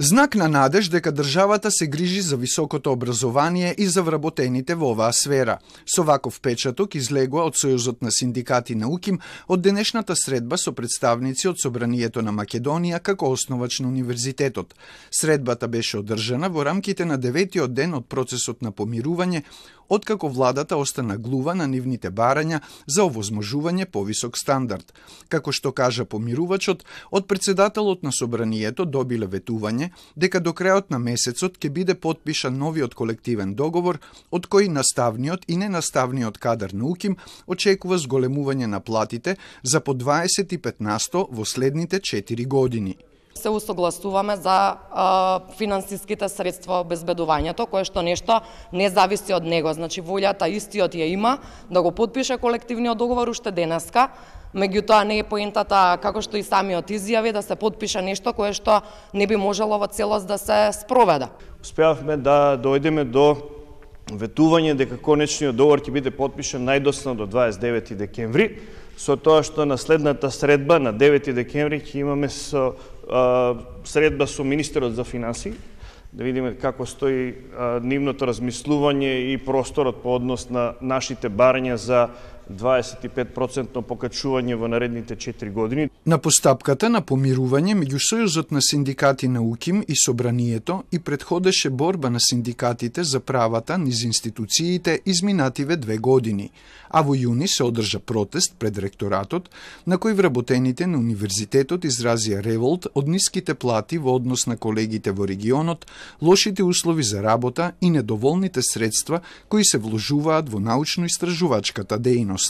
Знак на надеж дека државата се грижи за високото образование и за вработените во оваа сфера. Со ваков печаток излегува од Сојузот на синдикати на УКИМ од денешната средба со представници од Собранието на Македонија како основач на универзитетот. Средбата беше одржана во рамките на 9-тиот ден од процесот на помирување, откако владата остана глува на нивните барања за овозможување повисок стандард. Како што кажа помирувачот, од председателот на Собранието добиле ветување дека до крајот на месецот ќе биде потпишан новиот колективен договор, од кој наставниот и ненаставниот кадар на УКИМ очекува зголемување на платите за по 25% во следните 4 години. Се усогласуваме за финансиските средства обезбедувањето, кое што нешто не зависи од него. Значи, волјата истиот ја има да го потпише колективниот договор уште денеска, меѓутоа не е поентата, како што и самиот изјави, да се потпише нешто кое што не би можело во целост да се спроведе. Успеавме да дојдеме до ветување дека конечниот договор ќе биде потпишан најдосно до 29 декември, со тоа што на следната средба на 9 декември ќе имаме средба со министерот за финансии, да видиме како стои нивното размислување и просторот по однос на нашите барања за 25% покачување во наредните 4 години. На постапката на помирување меѓу Сојузот на синдикати на УКИМ и Собранието и предходеше борба на синдикатите за правата низ институциите изминативе 2 години, а во јуни се одржа протест пред ректоратот, на кој вработените на универзитетот изразија револт од ниските плати во однос на колегите во регионот, лошите услови за работа и недоволните средства кои се вложуваат во научно-истражувачката дејност.